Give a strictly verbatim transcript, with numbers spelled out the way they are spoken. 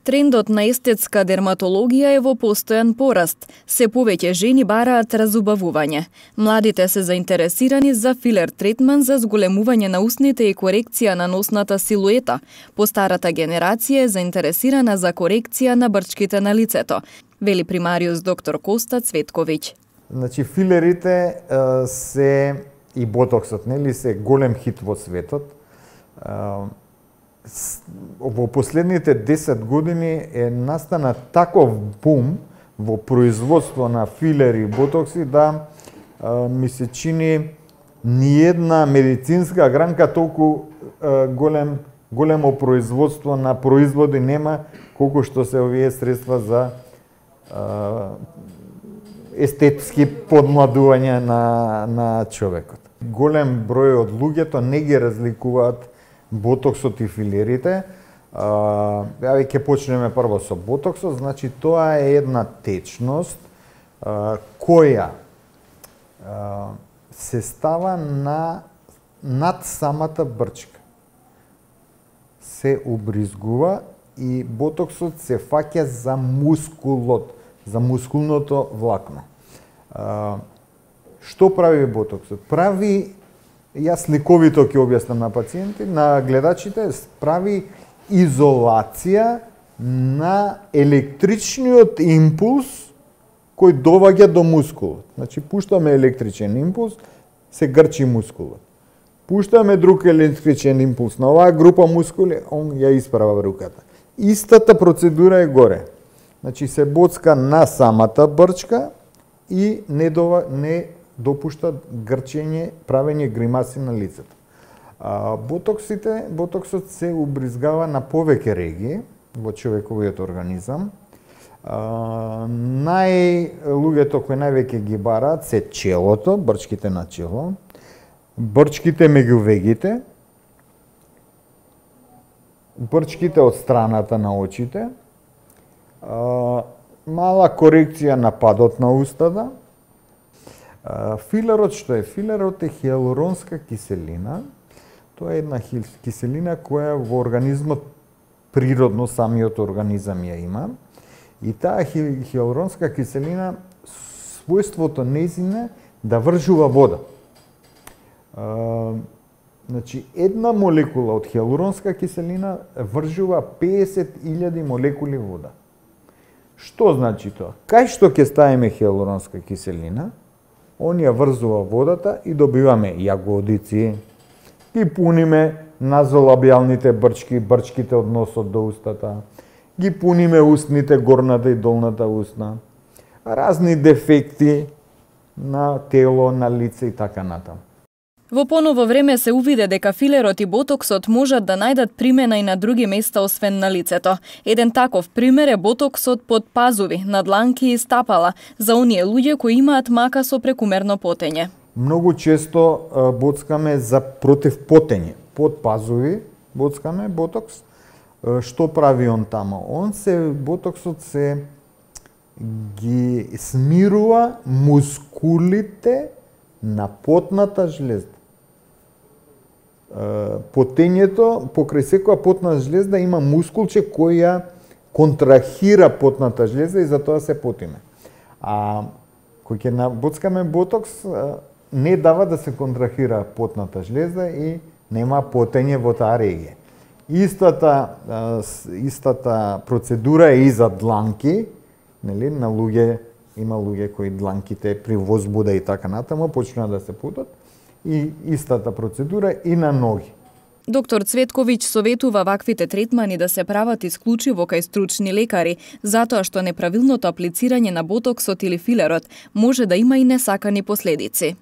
Трендот на естетска дерматологија е во постојан пораст. Се повеќе жени бараат разубавување. Младите се заинтересирани за филер третман за зголемување на усните и корекција на носната силуета. Постарата генерација е заинтересирана за корекција на брчките на лицето, вели примариус доктор Коста Цветковиќ. Значи филерите се и ботоксот, нели, се голем хит во светот. Во последните десет години е настана таков бум во производство на филери и ботокси да а, ми се чини ниедна медицинска гранка толку а, голем големо производство на производи нема колку што се овие средства за а, естетски подмладување на на човекот. Голем број од луѓето не ги разликуваат ботоксот и филерите. Ја ќе почнеме прво со ботоксот, значи тоа е една течност а, која а, се става на над самата брчка. Се убризгува и ботоксот се фаќа за мускулот, за мускулното влакно. А, што прави ботоксот? Прави, јас сликовито ќе објаснам на пациенти, на гледачите, прави изолација на електричниот импулс кој доваѓа до мускулот. Значи, пуштаме електричен импулс, се грчи мускулот. Пуштаме друг електричен импулс на оваа група мускули, он ја исправа руката. Истата процедура е горе. Значи, се боцка на самата брчка и не, дова, не допушта грчење, правење гримаси на лицето. А, ботоксите, ботоксот се убризгава на повеќе регии во човековиот организам. А, нај луѓето кои највеќе ги бараат се челото, брчките на чело, брчките меѓу вегите, брчките од страната на очите, а, мала корекција на падот на устата. Филерот што е? Филерот е хиалуронска киселина. Тоа е една киселина која во организмот природно самиот организам ја има. И таа хиалуронска киселина, својството нејзине да вржува вода. А, значи, една молекула од хиалуронска киселина вржува песет илјади молекули вода. Што значи тоа? Кај што ќе ставиме хиалуронска киселина, он ја врзува водата и добиваме јагодици, ги пуниме назолабијалните брчки, брчките од носот до устата, ги пуниме устните, горната и долната устна, разни дефекти на тело, на лице и така натаму. Во поново време се увиде дека филерот и ботоксот можат да најдат примена и на други места освен на лицето. Еден таков пример е ботоксот под пазуви, на дланки и стапала, за оние луѓе кои имаат мака со прекумерно потење. Многу често боцкаме за против потење. Под пазуви боцкаме ботокс. Што прави он тамо? Он се, ботоксот се ги смирува мускулите на потната жлезда. Потењето, покрај секоја потна жлезда има мускулче кој ја контрахира потната жлезда и затоа се потиме. А кој ќе набоцкаме ботокс, не дава да се контрахира потната жлезда и нема потење во таа регија. Истата, истата процедура е и за дланки, нели, на луѓе, има луѓе кои дланките при возбуда и така натаму почнаа да се потат, и истата процедура и на ноги. Доктор Цветковиќ советува ваквите третмани да се прават исклучиво кај стручни лекари, затоа што неправилното аплицирање на ботоксот или филерот може да има и несакани последици.